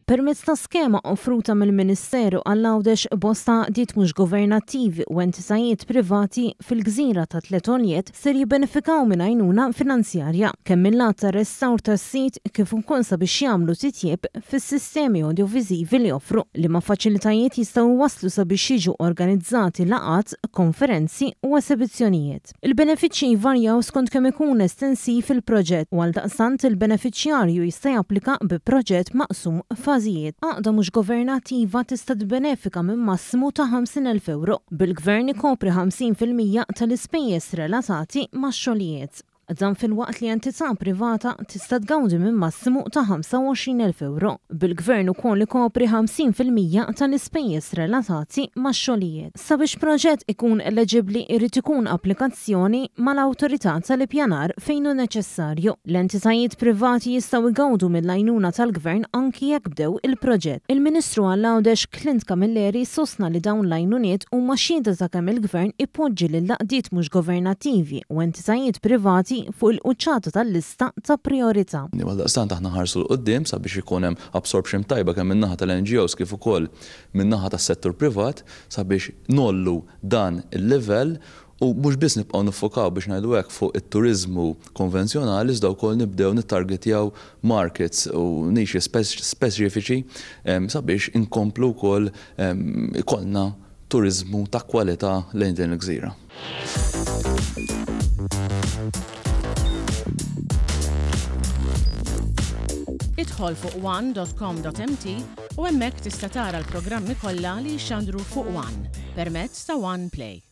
Permezz ta' skema offruta mill-Ministeru għall-Għawdex bosta għaqdiet mhux governattivi u entitajiet privati fil-gżira ta' Tliet Għoljiet ser jibbenefikaw minn għajnuna finanzjarja, kemm mil-lat ta' restawr tas-sit kif ukoll sabiex jagħmlu titjieb fis-sistemi awdjoviżivi li joffru, liema faċilitajiet jistgħu jwasslu sabiex jiġu organizzati laqgħat, konferenzi u esebizzjonijiet. Il-benefiċċji jvarjaw skont kemm ikun estensiv il-proġett u għaldaqstant il-benefiċjarju jista' japplika bi proġett maqsum f'fażijiet. Għaqda mhux governattiva tista' tibbenefika minn massimu ta' 50,000 ewro, bil-Gvern ikopri 50% tal-ispejjeż relatati max-xogħlijiet. Dan filwaqt li entità privata tista' tgawdi minn massimu ta' 25,000 ewro, bil-Gvern ukoll ikopri 50% tal-ispejjeż relatati max-xogħlijiet. Sabiex proġett ikun eleġibbli jrid ikun applikazzjoni mal-Awtorità tal-Ippjanar fejn hu neċessarju. L-entitajiet privati jistgħu jgawdu mill-għajnuna tal-Gvern anki jekk bdew il-proġett. Il-Ministru għall-Għawdex Clint Camilleri sostna li dawn l-għajnuniet huma xhieda ta' kemm il-Gvern ipoġġi lill-għaqdiet mhux governattivi u entitajiet privati fuq il-quċċata tal-lista ta' prijorità. Għaldaqstant aħna nħarsu 'l quddiem sabiex ikun hemm absorption tajba kemm min-naħa tal-NGOs kif ukoll min-naħa tas-settur privat sabiex ngħollu dan il-livell u mhux biss nibqgħu niffokaw biex ngħidu hekk fuq it-turiżmu konvenzjonali iżda wkoll nibdew nittargetjaw markets u niches speċifiċi sabiex inkomplu wkoll ikollna turiżmu ta' kwalità lejn din il-gżira. Idħol fuq one.com.mt u hemmhekk tista' tara l-programmi kollha li jixxandru fuq One permezz ta' One Play.